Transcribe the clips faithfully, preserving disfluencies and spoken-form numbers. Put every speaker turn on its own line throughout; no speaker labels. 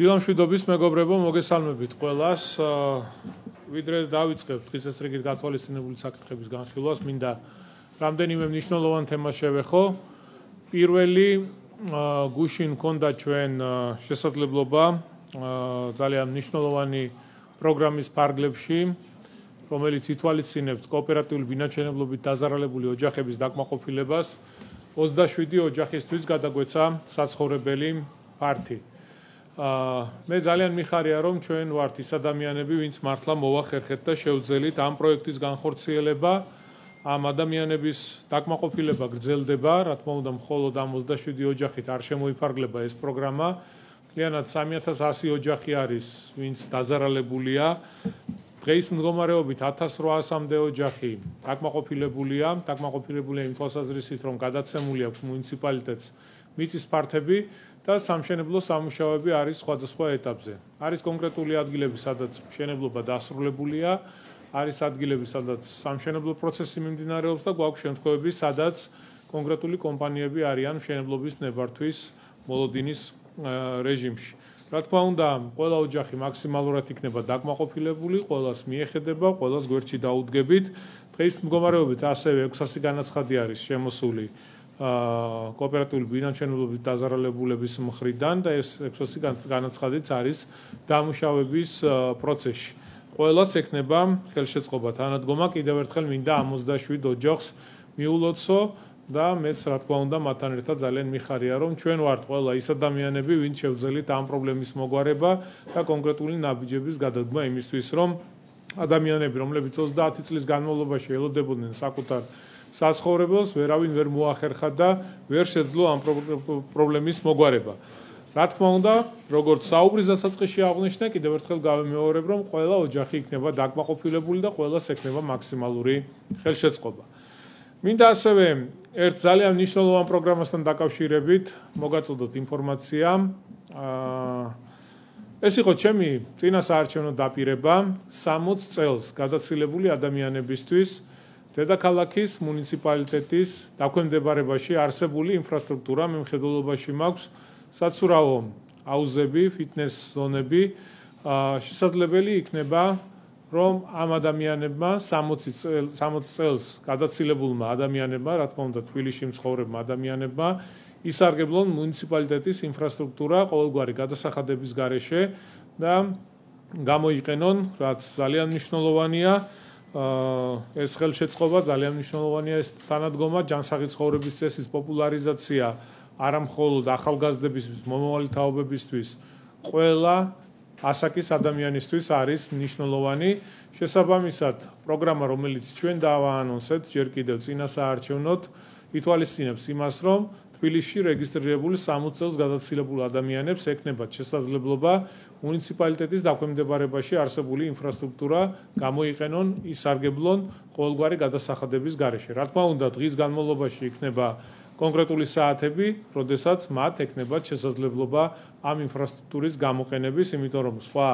დილამშვიდობის მეგობრებო, მოგესალმებით ყველას. ვიდრე დავიწყებთ დღის ეს რიგით გათვალისწინებული საკითხების განხილვას, მინდა რამდენიმე მნიშვნელოვან თემას შევეხო. პირველი გუშინ მქონდა ჩვენ შესაძლებლობა ძალიან მნიშვნელოვანი პროგრამის ფარგლებში, რომელიც ითვალისწინებს კოოპერატიული ბინაჩვენებლობით დაზარალებული ოჯახების დაკმაყოფილებას, ოცდაშვიდი ოჯახისთვის გადაგვეცა საცხოვრებელი ფართი. მე ძალიან მიხარია, რომ ჩვენ ვართ ის ადამიანები, ვინც მართლა მოვახერხეთ და შევძელით ამ პროექტის განხორციელება, ამ ადამიანების დაკმაყოფილება გრძელდება, რა თქმა უნდა, მხოლოდ ამ ოცდაშვიდი ოჯახით არ შემოიფარგლება ეს პროგრამა. მთლიანად სამი ათას ასი ოჯახი არის, ვინც დაზარალებულია. დღეის მდგომარეობით ათას რვაასამდე ოჯახი დაკმაყოფილებულია, დაკმაყოფილებულია იმ თვალსაზრისით, რომ გადაცემული აქვს მუნიციპალიტეტს მიწის ფართები და სამშენებლო სამუშაოები არის სხვადასხვა ეტაპზე. არის კონკრეტული ადგილები, სადაც მშენებლობა დასრულებულია, არის ადგილები, სადაც სამშენებლო პროცესი მიმდინარეობს და გვაქვს შემთხვევები, სადაც კონკრეტული კომპანიები არიან მშენებლობის ნებართვის მოლოდინის რეჟიმში. რა თქმა უნდა, ყველა ოჯახი მაქსიმალურად იქნება დაკმაყოფილებული, ყველას მიეხედება, ყველას გვერდში დაუდგებით. დღეის მდგომარეობით ასევე ექვსასი განაცხადი არის შემოსული კოოპერატიული ბინაჩვენებლობით დაზარალებულების მხრიდან და ეს ექვსასი განაცხადიც არის დამუშავების პროცესში. ყველას ექნება ხელშეწყობა თანადგომა, კიდევ ერთხელ მინდა ამ ოცდაშვიდ ოჯახს მიულოცო და მეც რა თქმა უნდა მათთან ერთად ძალიან მიხარია, რომ ჩვენ ვართ ყველა ის ადამიანები, ვინც შევძელით ამ პრობლემის მოგვარება და კონკრეტული ნაბიჯების გადადგმა იმისთვის, რომ ადამიანები, რომლებიც ოცდაათი წლის განმავლობაში ელოდებოდნენ საკუთარ საცხოვრებელს, ვერავინ ვერ მოახერხა და ვერ შეძლო ამ პრობლემის მოგვარება. რა თქმა უნდა, როგორც საუბრის დასაწყისში აღვნიშნე, კიდევ ერთხელ გავიმეორებ, რომ ყველა ოჯახი იქნება დაკმაყოფილებული და ყველას ექნება მაქსიმალური ხელშეწყობა. მინდა ასევე ერთ ძალიან მნიშვნელოვან პროგრამასთან დაკავშირებით მოგაწოდოთ ინფორმაცია. ეს იყო ჩემი წინასაარჩევნო დაპირება სამოც წელს გადაცილებული ადამიანებისთვის დედაქალაქის მუნიციპალიტეტის დაქვემდებარებაში არსებული ინფრასტრუქტურა. მე მხედველობაში მაქვს საცურაო აუზები, ფიტნეს ზონები. შესაძლებელი იქნება რომ ამ ადამიანებმა სამოცი წელს გადაცილებულმა ადამიანებმა, რა თქმა უნდა, თბილისში მცხოვრებმა ადამიანებმა ისარგებლონ მუნიციპალიტეტის ინფრასტრუქტურა ყოველგვარი გადასახადების გარეშე და გამოიყენონ, რაც ძალიან მნიშვნელოვანია. ეს ხელშეწყობა ძალიან მნიშვნელოვანია, ეს თანადგომა, ჯანსაღი ცხოვრების წესის პოპულარიზაცია არა მხოლოდ ახალგაზრდებისთვის, მომავალი თაობებისთვის, ყველა ასაკის ადამიანისთვის არის მნიშვნელოვანი. შესაბამისად, პროგრამა, რომელიც ჩვენ დავაანონსეთ ჯერ კიდევ წინასაარჩევნოდ, ითვალისწინებს იმას, რომ თბილისში რეგისტრირებული სამოცი წელს გადაცილებულ ადამიანებს ექნებათ შესაძლებლობა მუნიციპალიტეტის დაქვემდებარებაში არსებული ინფრასტრუქტურა გამოიყენონ, ისარგებლონ ყოველგვარი გადასახადების გარეშე. რა თქმა უნდა, დღის განმავლობაში იქნება კონკრეტული საათები, როდესაც მათ ექნებათ შესაძლებლობა ამ ინფრასტრუქტურის გამოყენების, იმიტომ რომ სხვა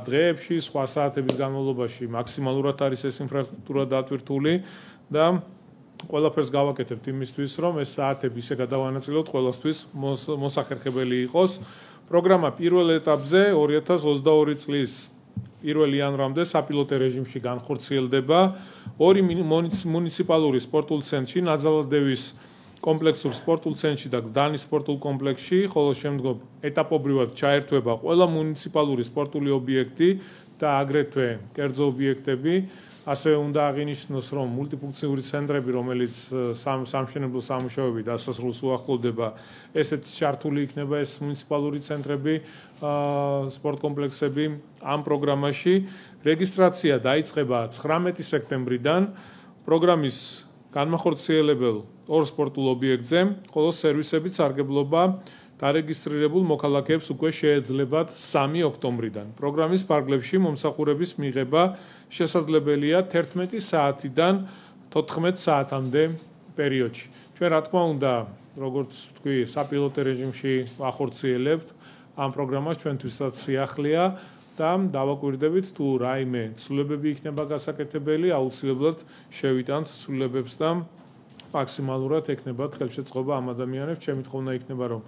დღეებში, სხვა საათების განმავლობაში მაქსიმალურად არის ეს ინფრასტრუქტურა დატვირთული და ყველაფერს გავაკეთებთ იმისთვის, რომ ეს საათები ისე გადავანაწილოთ, ყველასთვის მოსახერხებელი იყოს. პროგრამა პირველ ეტაპზე ორი ათას ოცდაორი წლის პირველი იანვრამდე საპილოტო რეჟიმში განხორციელდება. ორი მუნიციპალური სპორტულ ცენტრში, ნაძალადევის კომპლექსურ სპორტულ ცენტრში და გდანის სპორტულ კომპლექსში, ხოლო შემდგომ ეტაპობრივად ჩაერთვება ყველა მუნიციპალური სპორტული ობიექტი და აგრეთვე კერძო ობიექტები. ასევე უნდა აღინიშნოს, რომ მულტიფუნქციური ცენტრები, რომელიც სამშენებლო სამუშაოები დასასრულს უახლოვდება, ესეთი ჩართული იქნება ეს მუნიციპალური ცენტრები, სპორტ კომპლექსები ამ პროგრამაში. რეგისტრაცია დაიწყება ცხრამეტი სექტემბრიდან პროგრამის განმახორციელებელ ორ სპორტულ ობიექტზე, ხოლო სერვისებით სარგებლობა დარეგისტრირებულ მოქალაქეებს უკვე შეეძლებათ სამი ოქტომბრიდან. პროგრამის ფარგლებში მომსახურების მიღება შესაძლებელია თერთმეტი საათიდან თოთხმეტ საათამდე პერიოდში. ჩვენ რა თქმა უნდა, როგორც თქვი, საპილოტო რეჟიმში ვახორციელებთ ამ პროგრამას, ჩვენთვისაც სიახლეა და დავაკვირდებით თუ რაიმე ცვლილებები იქნება გასაკეთებელი, აუცილებლად შევიტანთ ცვლილებებს და მაქსიმალურად ექნებათ ხელშეწყობა ამ ადამიანებს. ჩემი თხოვნა იქნება, რომ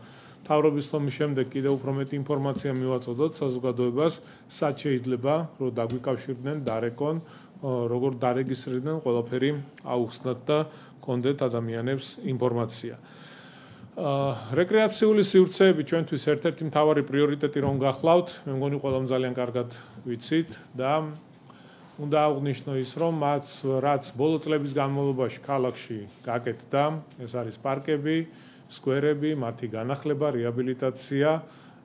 თავრობის ლომის შემდეგ კიდევ უფრო მეტი ინფორმაცია მივაწოდოთ საზოგადოებას, სად შეიძლება რომ დაგვიკავშირდნენ, დარეკონ, როგორ დარეგისტრირდნენ, ყველაფერი აუხსნათ და კონდეთ ადამიანებს ინფორმაცია. რეკრეაციული სივრცეები ჩვენთვის ერთ-ერთი მთავარი პრიორიტეტი რომ გახლავთ, მე მგონი ყველამ ძალიან კარგად ვიცით და უნდა აღვნიშნო ის, რომ მათ რაც ბოლო წლების განმავლობაში ქალაქში გაკეთდა, ეს არის პარკები, სკვერები, მათი განახლება, რეაბილიტაცია,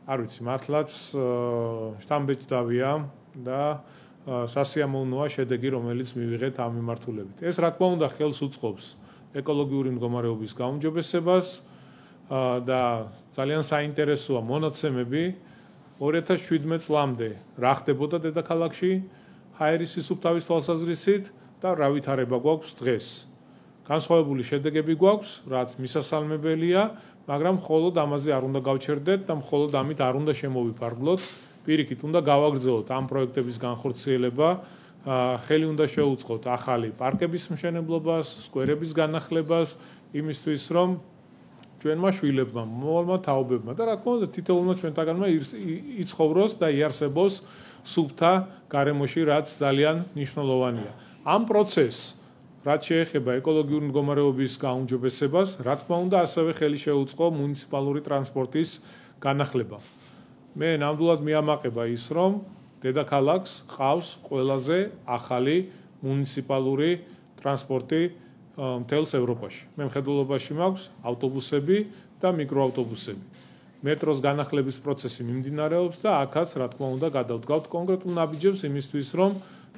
არ ვიცი, მართლაც შთამბეჭდავია და სასიამოვნოა შედეგი, რომელიც მივიღეთ ამ მიმართულებით. ეს რა თქმა უნდა ხელს უწყობს ეკოლოგიური მდგომარეობის გაუმჯობესებას და ძალიან საინტერესოა მონაცემები ორი ათას შვიდმეტ წლამდე რა ხდებოდა დედაქალაქში ჰაერისის სუფთავის თვალსაზრისით და რა ვითარება გვაქვს დღეს. განსხვავებული შედეგები გვაქვს, რაც მისასალმებელია, მაგრამ მხოლოდ ამაზე არ უნდა გავჩერდეთ და მხოლოდ ამით არ უნდა შემოვიფარგლოთ. პირიქით, უნდა გავაგრძელოთ ამ პროექტების განხორციელება, ხელი უნდა შეუწყოთ ახალი პარკების მშენებლობას, სკვერების განახლებას, იმისთვის, რომ ჩვენმა შვილებმა, მომავალმა თაობებმა და რა თქმა უნდა, თითოეულმა ჩვენთაგანმა იცხოვროს და იარსებოს სუფთა გარემოში, რაც ძალიან მნიშვნელოვანია. ამ პროცესს, რაც შეეხება ეკოლოგიური მდგომარეობის გაუმჯობესებას, რა თქმა უნდა, ასევე ხელი შეუწყო მუნიციპალური ტრანსპორტის განახლება. მე ნამდვილად მიამაყება ის, რომ დედაქალაქს ყავს ყველაზე ახალი მუნიციპალური ტრანსპორტი მთელს ევროპაში. მე მხედველობაში მაქვს ავტობუსები და მიკროავტობუსები. მეტროს განახლების პროცესი მიმდინარეობს და აქაც რა თქმა უნდა გადავდგავთ კონკრეტულ ნაბიჯებს იმისთვის, რომ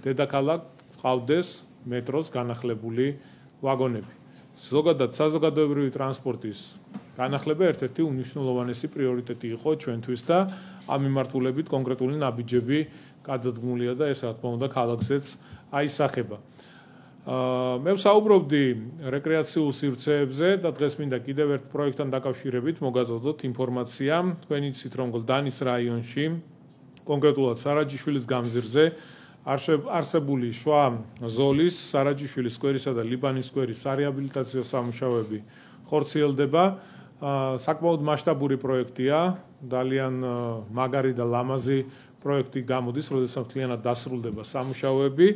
დედაქალაქს ყავდეს მეტროს განახლებული ვაგონები. ზოგადად საზოგადოებრივი ტრანსპორტის განახლება ერთ-ერთი უმნიშვნელოვანესი პრიორიტეტი იყო ჩვენთვის და ამ მიმართულებით კონკრეტული ნაბიჯები გადადგმულია და ეს რა თქმა უნდა ქალაქზეც აისახება. მე ვსაუბრობდი რეკრეაციულ სივრცეებზე და დღეს მინდა კიდევ ერთ პროექტთან დაკავშირებით მოგაწოდოთ ინფორმაცია. თქვენ იცით, რომ გლდანის რაიონში, კონკრეტულად სარაჯიშვილის გამზირზე არსებული შვა ზოლის, სარაჯიშვილის სკვერისა და ლიბანის სკვერის სარეაბილიტაციო სამუშაოები ხორციელდება. საკმაოდ მასშტაბური პროექტია, ძალიან მაგარი და ლამაზი პროექტი გამოდის, როდესაც მთლიანად დასრულდება სამუშაოები.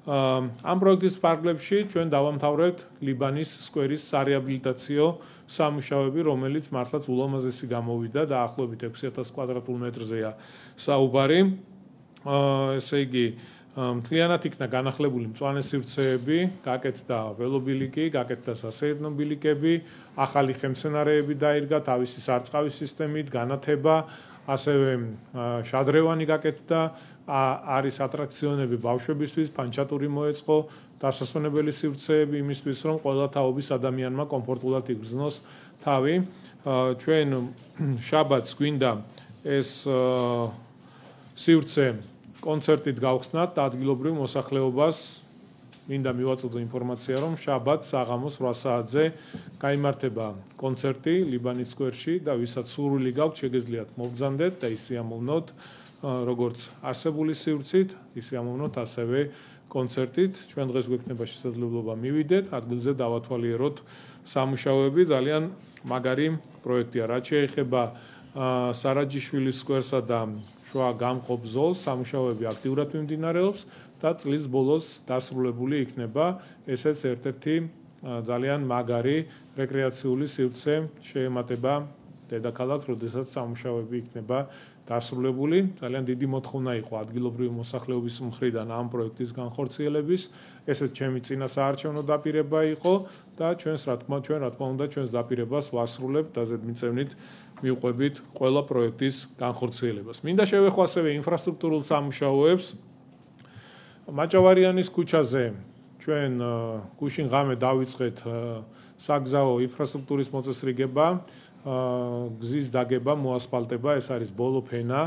ამ პროექტის ფარგლებში ჩვენ დავამთავრებთ ლიბანის სკვერის სარეაბილიტაციო სამუშაოები, რომელიც მართლაც ულამაზესი გამოვიდა და ახლობით ექვსი ათას კვადრატულ მეტრზეა საუბარი. ესე იგი, მთლიანად იქნა განახლებული მწვანე სივრცეები, გაკეთდა ველობილიკი, გაკეთდა სასეირნო ბილიკები, ახალი ხემცენარეები დაირგა თავისი სარწყავის სისტემით, განათება, ასევე შადრევანი გაკეთდა, არის ატრაქციონები ბავშვებისთვის, ფანჩატური მოეწყო, დასასვენებელი სივრცეები იმისთვის, რომ ყველა თაობის ადამიანმა კომფორტულად იგრძნოს თავი. ჩვენ შაბათს გვინდა ეს სივრცე კონცერტით გავხსნათ და ადგილობრივ მოსახლეობას მინდა მივაწოდო ინფორმაცია, რომ შაბათს საღამოს რვა საათზე გაიმართება კონცერტი ლიბანის სკვერში და ვისაც სურვილი გაქვთ, შეგეძლიათ მობრძანდეთ და ისიამოვნოთ როგორც არსებული სივრცით, ისიამოვნოთ ასევე კონცერტით. ჩვენ დღეს გვექნება შესაძლებლობა მივიდეთ, ადგილზე დავათვალიეროთ სამუშაოები, ძალიან მაგარი პროექტია. რაც შეეხება სარაჯიშვილის სკვერსა და შუა გამყოფ ზოლს, სამუშაოები აქტიურად მიმდინარეობს და წლის ბოლოს დასრულებული იქნება. ესეც ერთ-ერთი ძალიან მაგარი რეკრეაციული სივრცე შეემატება დედაქალაქს, როდესაც სამუშაოები იქნება დასრულებული. ძალიან დიდი მოთხოვნა იყო ადგილობრივი მოსახლეობის მხრიდან ამ პროექტის განხორციელების. ესეც ჩემი წინა საარჩევნო დაპირება იყო და ჩვენს რა თქმა ჩვენ რა თქმა უნდა ჩვენს დაპირებას ვასრულებთ და ზედმიწევნით მივყვებით ყველა პროექტის განხორციელებას. მინდა შევეხო ასევე ინფრასტრუქტურულ სამუშაოებს. მაჭავარიანის ქუჩაზე ჩვენ გუშინ ღამე დავიწყეთ საგზაო ინფრასტრუქტურის მოწესრიგება, გზის დაგება, მოასფალტება, ეს არის ბოლო ფენა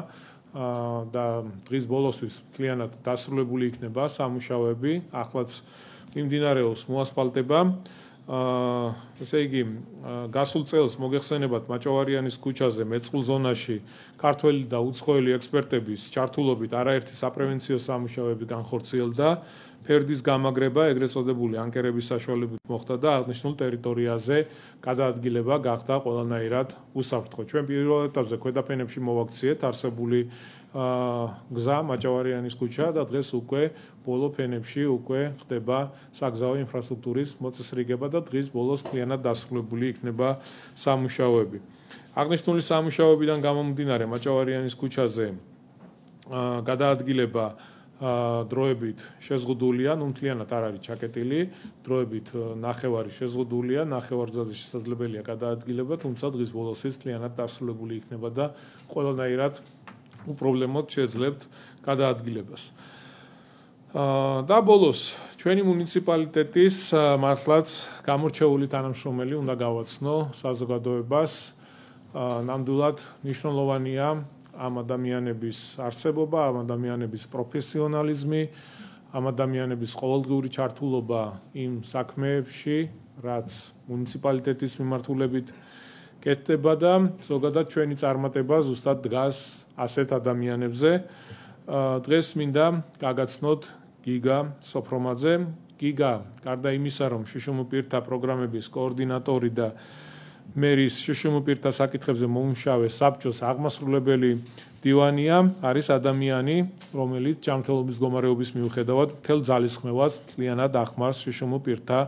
და დღის ბოლოსთვის მთლიანად დასრულებული იქნება სამუშაოები. ახლაც მიმდინარეობს მოასფალტება. ესე იგი, გასულ წელს მოგეხსენებათ მაჭავარიანის ქუჩაზე მეწყვილ ზონაში ქართველი და უცხოელი ექსპერტების ჩართულობით არაერთი საპრევენციო სამუშაოები განხორციელდა. ფერდის გამაგრება, ეგრეთ წოდებული ანკერების საშუალებით მოხდა და აღნიშნულ ტერიტორიაზე გადაადგილება გახდა ყველანაირად უსაფრთხო. ჩვენ პირველ ეტაპზე ქვედაფენებში მოვაქციეთ არსებული გზა მაჭავარიანის ქუჩა და დღეს უკვე ბოლო ფენებში უკვე ხდება საგზაო ინფრასტრუქტურის მოწესრიგება და დღის ბოლოს მთლიანად დასრულებული იქნება სამუშაოები. აღნიშნული სამუშაოებიდან გამომდინარე მაჭავარიანის ქუჩაზე გადაადგილება დროებით შეზღუდულია, ნუ მთლიანად არ არის ჩაკეტილი, დროებით ნახევარი შეზღუდულია, ნახევარგზაზე შესაძლებელია გადაადგილება, თუმცა დღის ბოლოსთვის მთლიანად დასრულებული იქნება და ყველანაირად უპრობლემოდ შეძლებთ გადაადგილებას. და ბოლოს ჩვენი მუნიციპალიტეტის მართლაც გამორჩეული თანამშრომელი უნდა გავაცნო საზოგადოებას. ნამდვილად მნიშვნელოვანია ამ ადამიანების არსებობა, ამ ადამიანების პროფესიონალიზმი, ამ ადამიანების ყოველდღიური ჩართულობა იმ საქმეებში, რაც მუნიციპალიტეტის მიმართულებით კეთდება და ზოგადად ჩვენი წარმატება ზუსტად დგას ასეთ ადამიანებზე. დღეს მინდა გაგაცნოთ გიგა სოფრომაძე. გიგა, გარდა იმისა, რომ შშმ პირთა პროგრამების კოორდინატორი და მერის შშმ პირთა საკითხებზე მომუშავე საბჭოს აღმასრულებელი დივანია, არის ადამიანი, რომელიც ჯანმრთელობის მდგომარეობის მიუხედავად მთელ ძალისხმევას მთლიანად ახმარს შშმ პირთა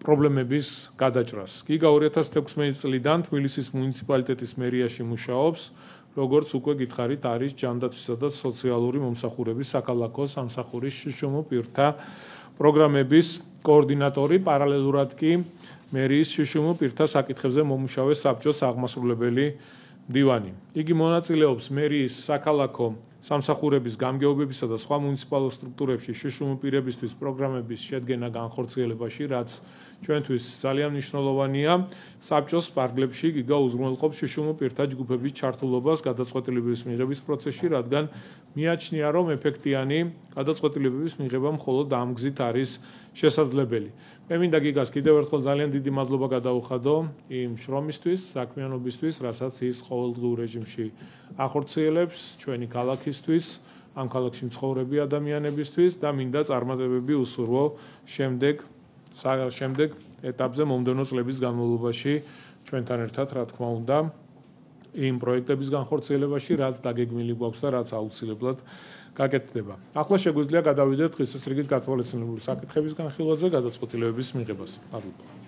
პრობლემების გადაჭრას. გიგა ორი ათას თექვსმეტი წლიდან თბილისის მუნიციპალიტეტის მერიაში მუშაობს, როგორც უკვე გითხარით, არის ჯანდაცვისა და სოციალური მომსახურების საქალაქო სამსახურის შშმ პირთა პროგრამების კოორდინატორი, პარალელურად კი მერის შშმ პირთა საკითხებზე მომუშავე საბჭოს აღმასრულებელი დივანი. იგი მონაწილეობს მერის საქალაქო სამსახურების გამგეობებისა და სხვა მუნიციპალურ სტრუქტურებში შშმ პირებისთვის პროგრამების შედგენა განხორციელებაში, რაც ჩვენთვის ძალიან მნიშვნელოვანია. საბჭოს პარკლებში გიგა უზრუნველყოფს შშმ პირთა ჯგუფების ჩართულობას გადაწყვეტილებების მიღების პროცესში, რადგან მიაჩნია, რომ ეფექტიანი გადაწყვეტილებების მიღება მხოლოდ ამ გზით არის შესაძლებელი. მე მინდა გიგას კიდევ ერთხელ ძალიან დიდი მადლობა გადაუხადო იმ შრომისთვის, საქმიანობისთვის, რასაც ის ყოველდღიურ რეჟიმში ახორციელებს ჩვენი ქალაქისთვის, ამ ქალაქში მცხოვრები ადამიანებისთვის და მინდა წარმატებები უსურვო შემდეგ შემდეგ ეტაპზე მომდევნო წლების განმავლობაში ჩვენთან ერთად, რა თქმა უნდა, იმ პროექტების განხორციელებაში, რაც დაგეგმილი გვაქვს და რაც აუცილებლად გაკეთდება. ახლა შეგვიძლია გადავიდეთ დღესასრიგით გათვალისწინებული საკითხების განხილვაზე გადაწყვეტილებების მიღებას. მადლობა.